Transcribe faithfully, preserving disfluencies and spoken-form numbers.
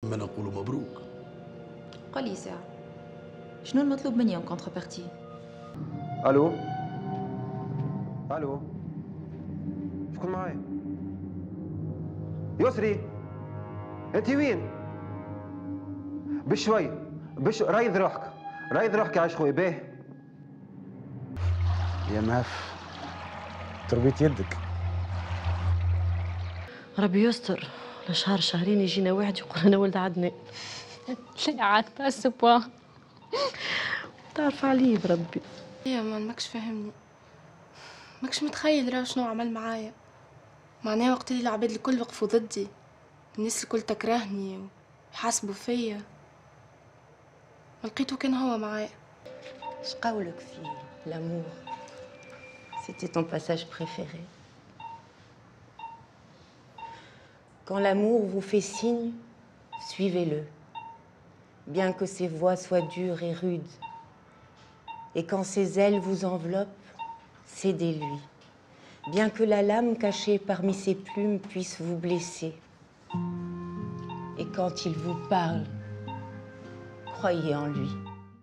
ما نقول مبروك. قولي ساعة شنو المطلوب مني en contrepartie؟ الو الو، شكون معايا؟ يسري، انت وين؟ بشوي بش رايض روحك، رايض روحك يا عايش خويا. باهي يا مهف، تربية يدك. ربي يستر، لشهر شهرين يجينا واحد يقول انا ولد عدنان. لا عاد pas à ce point. تعرف عليه بربي. يا man، ماكش فاهمني، ماكش متخيل راه شنو عمل معايا. معناه وقت اللي العباد الكل وقفوا ضدي، الناس الكل تكرهني ويحاسبوا فيا، ما لقيته كان هو معايا. اش قولك في l'amour؟ C'était ton passage préféré. Quand l'amour vous fait signe, suivez-le, bien que ses voix soient dures et rudes. Et quand ses ailes vous enveloppent, cédez-lui, bien que la lame cachée parmi ses plumes puisse vous blesser. Et quand il vous parle, croyez en lui.